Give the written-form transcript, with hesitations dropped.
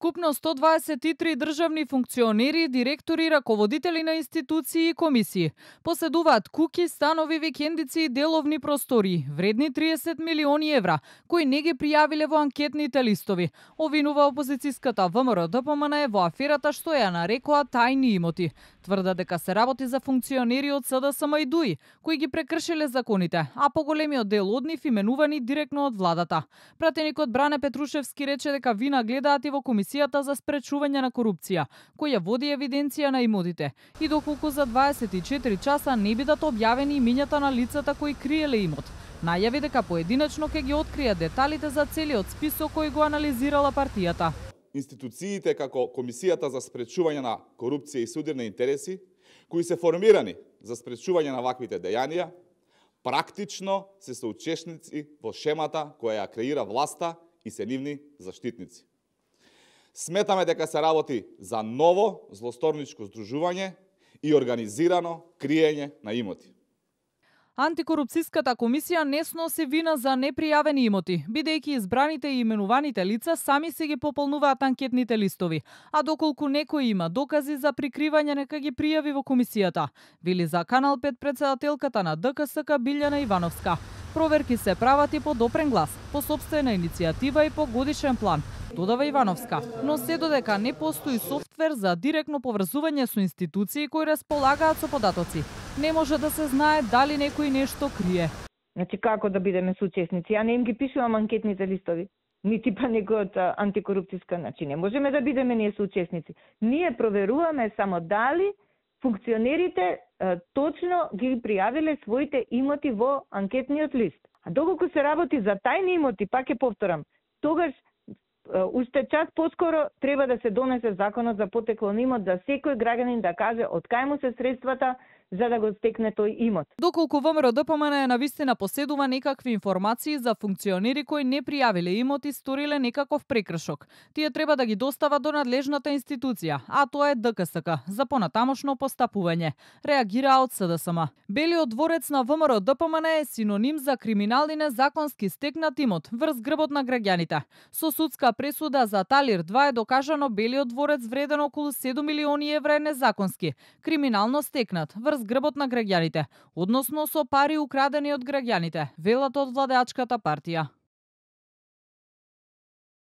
Вкупно 123 државни функционери, директори, раководители на институции и комисии поседуваат куќи, станови, викендици и деловни простори, вредни 30 милиони евра, кои не ги пријавиле во анкетните листови. Обвинува опозицијската ВМРО-ДПМН во аферата што ја нарекоа тајни имоти. Тврда дека се работи за функционери од СДСМ и ДУИ, кои ги прекршиле законите, а поголемиот дел од нив именувани директно од владата. Пратеникот Бране Петрушевски рече дека вина гледаат и во Комисијата за спречување на корупција, која води евиденција на имотите, и доколку за 24 часа не бидат објавени имињата на лицата кои криеле имот. Најави дека поединечно ќе ги открие деталите за целиот список кој го анализирала партијата. Институциите како Комисијата за спречување на корупција и судир на интереси, кои се формирани за спречување на ваквите дејанија, практично се соучесници во шемата која ја креира власта и се нивни заштитници. Сметаме дека се работи за ново злосторничко здружување и организирано криење на имоти. Антикорупцијската комисија не сноси вина за непријавени имоти, бидејќи избраните и именуваните лица сами си ги пополнуваат анкетните листови, а доколку некој има докази за прикривање нека ги пријави во комисијата, вели за Канал 5 претседателката на ДКСК Билјана Ивановска. Проверки се прават и по допрен глас, по сопствена иницијатива и по годишен план, додава Ивановска, но се додека не постои софтвер за директно поврзување со институции кои располагаат со податоци, не може да се знае дали некој нешто крие. Значи како да бидеме соучесници? Ја не им ги пишувам анкетните листови, нити па некој од антикорупцијска, значи не можеме да бидеме ние соучесници. Ние проверуваме само дали функционерите точно ги пријавиле своите имоти во анкетниот лист. А доколку се работи за тајни имоти, пак ќе повторам, тогаш уште час поскоро треба да се донесе законот за потекло на имот, за секој граѓанин да каже од кај му се средствата за да го стекне тој имот. Доколку ВМРО-ДПМН навистина поседува некакви информации за функционери кои не пријавиле имот и сториле некаков прекршок, тие треба да ги достават до надлежната институција, а тоа е ДКСК, за понатамошно постапување, реагираа од СДСМ. Белиот дворец на ВМРО-ДПМН е синоним за криминал и незаконски стекнат имот врз грбот на граѓаните. Со судска пресуда за Талир 2 е докажано Белиот дворец вреден околу 7 милиони евра е незаконски, криминално стекнат врз грбот на граѓаните, односно со пари украдени од граѓаните, велат од владеачката партија.